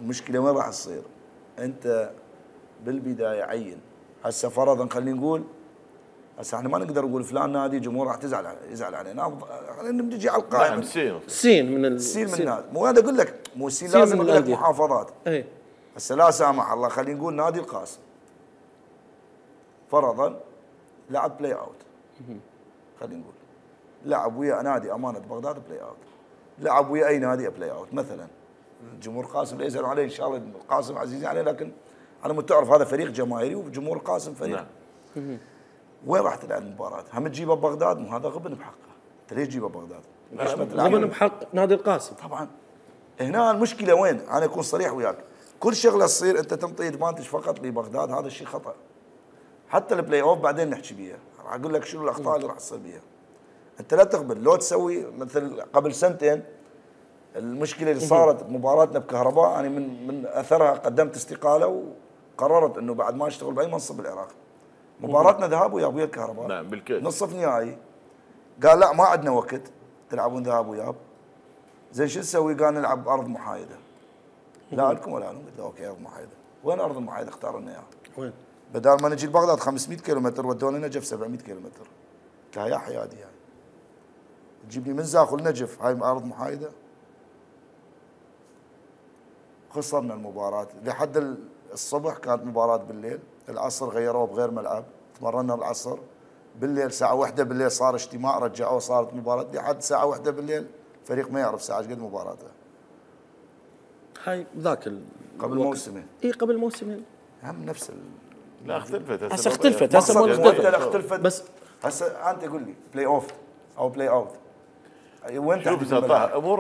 المشكله وين راح تصير؟ انت بالبدايه عين. هسه فرضا خلينا نقول، هسه احنا ما نقدر نقول فلان نادي جمهور راح يزعل علينا، خلينا نجي على القائمه. نعم سين من النادي. مو انا اقول لك، مو السين لازم اقول لك محافظات. اي هسه لا سامح الله خلينا نقول نادي القاسم فرضا لعب بلاي اوت، خلينا نقول لعب ويا نادي امانه بغداد بلاي اوت، لعب ويا اي نادي بلاي اوت مثلا. جمهور القاسم لا يزعلوا عليه ان شاء الله، القاسم عزيزين عليه، لكن على مود تعرف هذا فريق جماهيري وجمهور القاسم فريق. نعم. وين راح تلعب المباراه؟ هم تجيبها ببغداد؟ مو هذا غبن بحقه. انت ليش تجيبها ببغداد؟ غبن بحق نادي القاسم. طبعا هنا المشكله وين؟ انا اكون صريح وياك، كل شغله تصير انت تنطي ادفانتج فقط لبغداد، هذا الشيء خطا. حتى البلاي اوف بعدين نحكي بيها، راح اقول لك شنو الاخطاء اللي راح تصير بيها. انت لا تقبل لو تسوي مثل قبل سنتين المشكله اللي صارت بمباراتنا بكهرباء، انا من اثرها قدمت استقاله وقررت انه بعد ما اشتغل باي منصب بالعراق. مباراتنا ذهاب وياب ويا الكهرباء، نعم بالكيف، نصف نهائي، قال لا ما عندنا وقت تلعبون ذهاب وياب، زين شو نسوي؟ قال نلعب بارض محايده. لا عندكم ولا عندكم؟ قلت له اوكي ارض محايده. وين ارض المحايده؟ اختار لنا اياها. وين؟ بدال ما نجي لبغداد 500 كيلومتر ودونا نجف 700 كيلومتر. قلت له يا حيادي يعني تجيب لي من زاخل نجف هاي ارض محايده؟ خسرنا المباراه لحد الصبح. كانت مباراه بالليل، العصر غيروه بغير ملعب، تمرنا العصر بالليل الساعه 1 بالليل صار اجتماع رجعوه صارت مباراه لحد الساعه 1 بالليل. فريق ما يعرف ساعه قد مباراته. هاي ذاك قبل موسمين. اي قبل موسمين هم نفس لا اختلفت هسه اختلفت اختلفت بس هسه انت قول لي بلاي اوف او بلاي اوت وين شوف امور